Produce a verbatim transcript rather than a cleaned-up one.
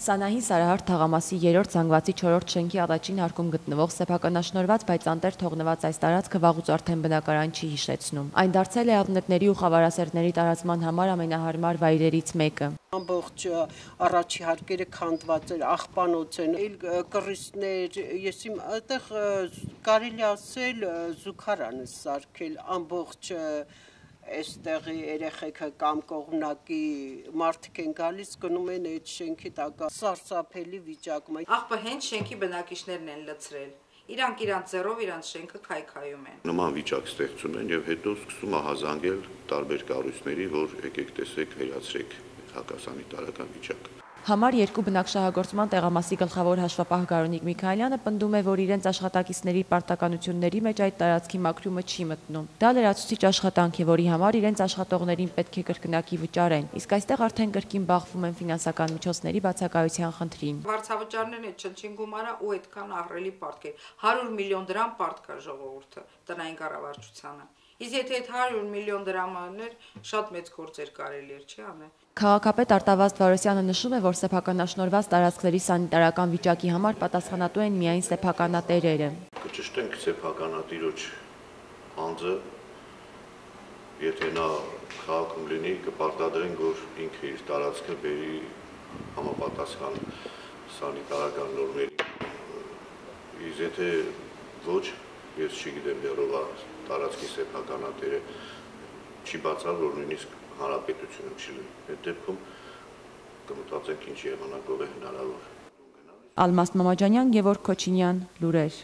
Սանահին Սարահարթ թաղամասի երրորդ զանգվածի չորրորդ շենքի առաջին հարկում գտնվող սեփականաշնորհված, բայց անտեր թողնված այս տարածքը վաղուց արդեն բնակարան չի հիշեցնում։ Այն դարձել է ավնետների ու խավարասերների տարածման համար ամենահարմար վայրերից մեկը։ Ամբողջ առաջի հարկերը քանդված էր, աղբանոց են, կռիստներ, ես իմ այդտեղ կարելի ասել զուգարան է սարքել, ամբողջ Այստեղի երեխեքը կամ կողմնակի մարդիկ են գալիս, գնում են այդ շենքի տակ, սարսափելի վիճակում։ Աղբը հենց շենքի բնակիչներն են լցրել, իրանք իրանք ձեռով իրանք շենքը քայքայում են։ Նման վիճակ ստեղծում են եւ հետո սկսում է հազանգել տարբեր կառույցների, որ եկեք տեսեք, վերացրեք հակասանիտարական վիճակը։ Համար երկու բնակչահագործման տեղամասի գլխավոր հաշվապահ Գարունիկ Միքայելյանը պնդում է, որ իրենց աշխատակիցների պարտականությունների մեջ այդ տարածքի մաքրումը չի մտնում։ Դա լրացուցիչ աշխատանք է, որի համար իրենց աշխատողներին պետք է կրկնակի վճարեն, իսկ այստեղ արդեն կրկին բախվում են ֆինանսական միջոցների բացակայության խնդրին։ Վարձավճարներն այդ չնչին գումարը ու այդքան ահռելի պարտք է, հարյուր միլիոն դրամ պարտք կա ժողովուրդը տնային կառավարությանը։ Իսկ եթե այդ հարյուր միլիոն դրամաներ շատ մեծ գործեր կարելի էր չի անել։ Քաղաքապետ Արտավազդ Վարոսյանը նշում է, որ սեփականաշնորհված տարածքների սանիտարական վիճակի համար պատասխանատու են միայն սեփականատերերը։ Կճշտենք սեփականատիրոջ անձը, եթե նա քաղաքում լինի, կպարտադրենք, որ ինքը իր տարածքը բերի համապատասխան սանիտարական նորմերի։ Իսկ եթե ոչ, ես չգիտեմ դեռ տարածքի սեփականատերը չի բացառ, որ նույնիսկ հանրապետությունը չի լինի։ Այդ դեպքում կմտածենք ինչ եղանակով է հնարավոր։ Ալմաստ Մամաջանյան, Գևորգ Քոչինյան, լուրեր։